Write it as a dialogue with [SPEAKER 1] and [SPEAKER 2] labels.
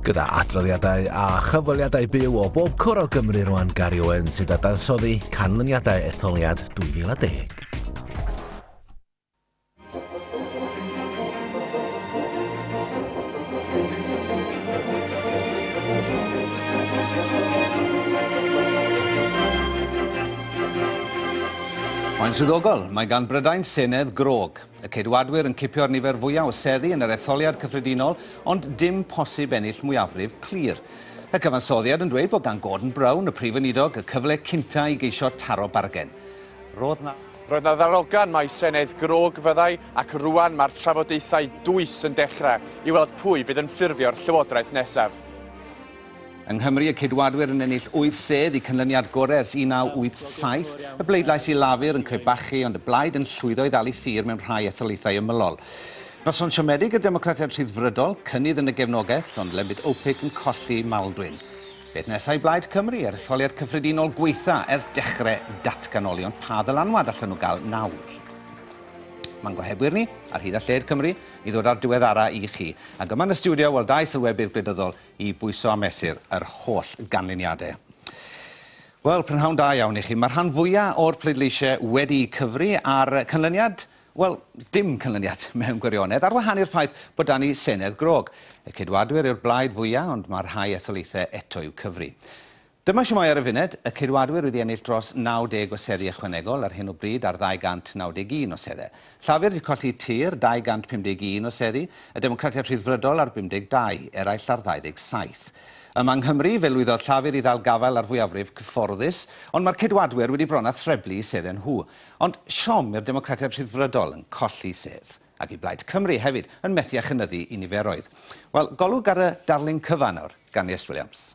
[SPEAKER 1] Gyda adroddiadau a chyfweliadau byw o bob cwr o Gymru rwan, Gary Owen sydd dadansoddi canlyniadau etholiad 2010.
[SPEAKER 2] Mae'n swyddogol, mae gan Brydain Senedd grog. Y Ceidwadwyr yn cipio'r nifer fwyaf o seddi yn yr etholiad cyffredinol, ond dim posib ennill mwyafrif clir. Y cyfansoddiad yn dweud bod gan Gordon Brown, y prif weinidog, y cyfle cynta i geisio taro bargen. Roedd
[SPEAKER 3] 'na ddarogan mai Senedd grog fyddai, ac rwan mae'r trafodaethau dwys yn dechrau i weld pwy fydd yn ffurfio'r llywodraeth nesaf.
[SPEAKER 2] Yng Nghymru, y Ceidwadwyr yn ennill 8 sedd i canlyniad gorau ers 1987, y bleidlais i Lafur yn crebachu, ond y blaid yn llwyddo i ddal ei thir mewn rhai etholaethau ymylol. Noson siomedig y Democratiaid Rhyddfrydol, cynnydd yn y gefnogaeth, ond Lembit Öpik yn colli Maldwyn. Beth nesaf i Blaid Cymru, yr etholiad cyffredinol gweitha ers dechrau datganoli, ond pa ddylanwad allan nhw gael nawr? Mae'n gohebwyr ni, ar hyd a lled Cymru, i ddod â'r diweddara i chi. Ac yma yn y stiwdio, wel, dau sylwebydd gwleidyddol i bwyso a mesur yr holl ganlyniadau. Wel, prynhawn da iawn i chi. Mae'r rhan fwyaf o'r pleidleisiau wedi cyfri a'r canlyniad, wel, dim canlyniad mewn gwirionedd, ar wahân i'r ffaith bod 'da ni Senedd grog. Y Ceidwadwyr yw'r blaid fwyaf, ond mae rhai etholaethau eto i'w cyfri. Dyma siwmai ar y funud, y Ceidwadwyr wedi ennill dros 90 o seddi ychwanegol ar hyn o bryd ar 291 o seddau. Llafur wedi colli tir, 251 o seddi, y Democratiaid Rhyddfrydol ar 52, eraill ar 27. Yma yng Nghymru, fe lwyddodd Llafur i ddal gafael ar fwyafrif cyfforddus, ond mae'r Ceidwadwyr wedi bron â threblu seddau nhw. Ond siom i'r Democratiaid Rhyddfrydol yn colli sedd, ac i Blaid Cymru hefyd yn methu â chynyddu i niferoedd. Wel, golwg ar y darlun cyfan nawr gan Iest Williams.